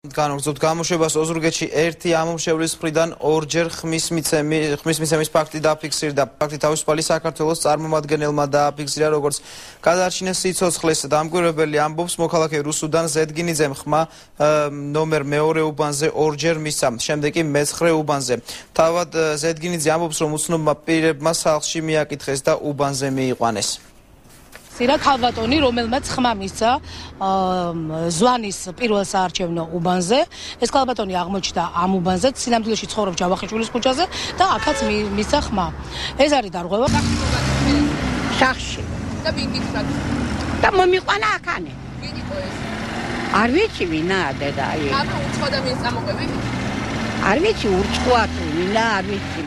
განაგრძობთ გამოშვებას ოზურგეთში ერთი ამომრჩევლის მხრიდან ორჯერ ხმის მიცემის ფაქტი დაფიქსირდა. ფაქტი თავისუფალი საქართველოს წარმომადგენელმა დააფიქსირა, როგორც გადაარჩინეს სიცოცხლეს დამკვირვებელი ამბობს, მოქალაქე რუსუდან ზედგინიძემ ხმა ნომერ მეორე უბანზე ორჯერ მისცა, შემდეგ კი მეცხრე უბანზე. თავად ზედგინიძე ამბობს, რომ უცნობმა პირებმა სახლში მიაკითხეს და უბანზე მიიყვანეს. სირა ქალბატონი, რომელმაც ხმა მისცა ზვანის პირველ საარჩევნო უბანზე. ეს ქალბატონი აღმოჩნდა ამ უბანზე, სინამდვილეში ცხოვრობს ჯავახიშვილის ქუჩაზე და აქაც მისცა ხმა. ეს არის დარღვევა. სახში. და ვინ გიხრათ? და მომიყვანა აქანე. ვინ იყო ეს? არ ვიცი ვინაა დედა. აბა უცხო ადამიანს წამოყვები? არ ვიცი ურჩხვა თუ ვინა, არ ვიცი.